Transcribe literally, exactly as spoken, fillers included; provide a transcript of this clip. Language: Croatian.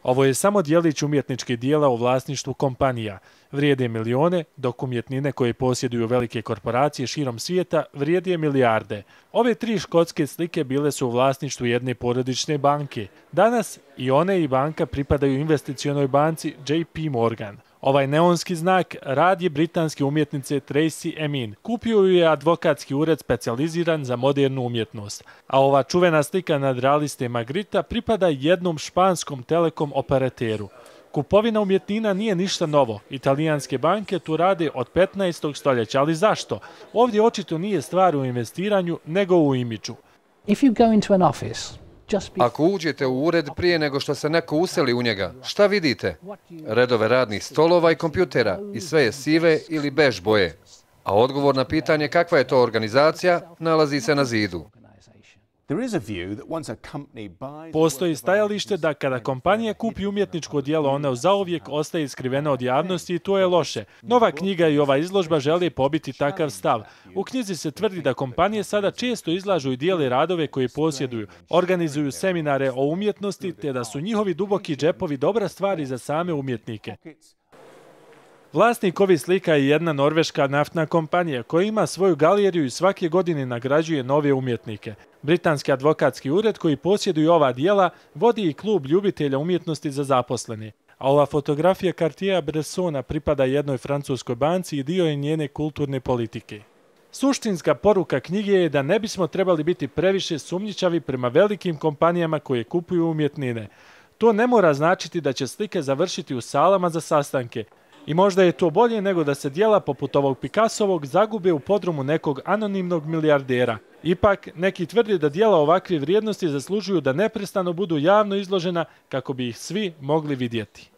Ovo je samo djelić umjetničkih dijela u vlasništvu kompanija. Vrijede milijone, dok umjetnine koje posjeduju velike korporacije širom svijeta vrijede milijarde. Ove tri škotske slike bile su u vlasništvu jedne porodične banke. Danas i one i banka pripadaju investicionoj banci J P Morgan. Ovaj neonski znak rad je britanske umjetnice Tracey Emin. Kupio ju je advokatski ured specijaliziran za modernu umjetnost. A ova čuvena slika nadrealiste Magritta pripada jednom španskom telekom operateru. Kupovina umjetnina nije ništa novo. Italijanske banke tu rade od petnaestog stoljeća, ali zašto? Ovdje očito nije stvar u investiranju, nego u imidžu. If you go into an office, Ako uđete u ured prije nego što se neko useli u njega, šta vidite? Redove radnih stolova i kompjutera i sve je sive ili bež boje. A odgovor na pitanje kakva je to organizacija nalazi se na zidu. Postoji stajalište da kada kompanija kupi umjetničko djelo, ona zauvijek ostaje skrivena od javnosti i to je loše. Nova knjiga i ova izložba žele pobiti takav stav. U knjizi se tvrdi da kompanije sada često izlažu i dijele radove koje posjeduju, organizuju seminare o umjetnosti te da su njihovi duboki džepovi dobra stvar i za same umjetnike. Vlasnik ovih slika je jedna norveška naftna kompanija koja ima svoju galeriju i svake godine nagrađuje nove umjetnike. Britanski advokatski ured koji posjeduje ova dijela vodi i klub ljubitelja umjetnosti za zaposlene. A ova fotografija Cartier-Bressona pripada jednoj francuskoj banci i dio je njene kulturne politike. Suštinska poruka knjige je da ne bismo trebali biti previše sumnjičavi prema velikim kompanijama koje kupuju umjetnine. To ne mora značiti da će slike završiti u salama za sastanke. I možda je to bolje nego da se djela poput ovog Picassovog zagube u podrumu nekog anonimnog milijardera. Ipak, neki tvrde da djela ovakve vrijednosti zaslužuju da neprestano budu javno izložena kako bi ih svi mogli vidjeti.